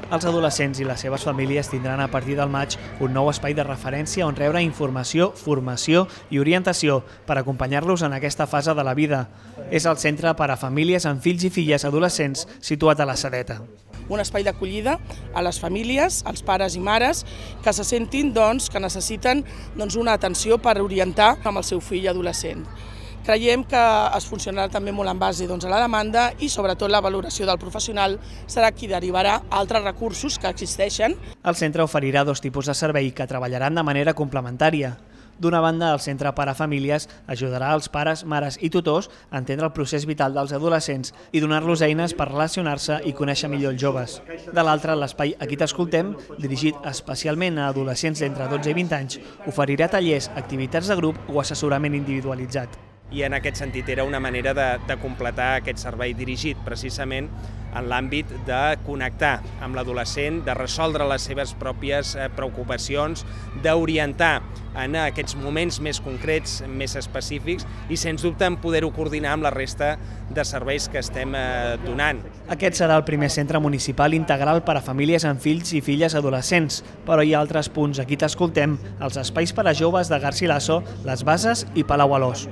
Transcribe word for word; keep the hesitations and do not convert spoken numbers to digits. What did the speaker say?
Els adolescents i les seves famílies tindran a partir del maig un nou espai de referència on rebre informació, formació i orientació per acompanyar-los en aquesta fase de la vida. És el Centre per a Famílies amb Fills i Filles Adolescents situat a la Sedeta. Un espai d'acollida a les famílies, als pares i mares, que se sentin doncs, que necessiten doncs, una atenció per orientar amb el seu fill adolescent. Creiem que es funcionarà també molt en base doncs, a la demanda i sobretot la valoració del professional serà qui derivarà altres recursos que existeixen. El centre oferirà dos tipus de servei que treballaran de manera complementària. D'una banda, el Centre per a Famílies ajudarà els pares, mares i tutors a entendre el procés vital dels adolescents i donar-los eines per relacionar-se i conèixer millor els joves. De l'altra, l'espai Aquí t'escoltem, dirigit especialment a adolescents d'entre dotze i vint anys, oferirà tallers, activitats de grup o assessorament individualitzat. I en aquest sentit era una manera de, de completar aquest servei dirigit precisament en l'àmbit de connectar amb l'adolescent, de resoldre les seves pròpies preocupacions, d'orientar en aquests moments més concrets, més específics i sens dubte en poder-ho coordinar amb la resta de serveis que estem donant. Aquest serà el primer centre municipal integral per a famílies amb fills i filles adolescents, però hi ha altres punts. Aquí t'escoltem, els espais per a joves de Garcilaso, Les Bases i Palau Alòs.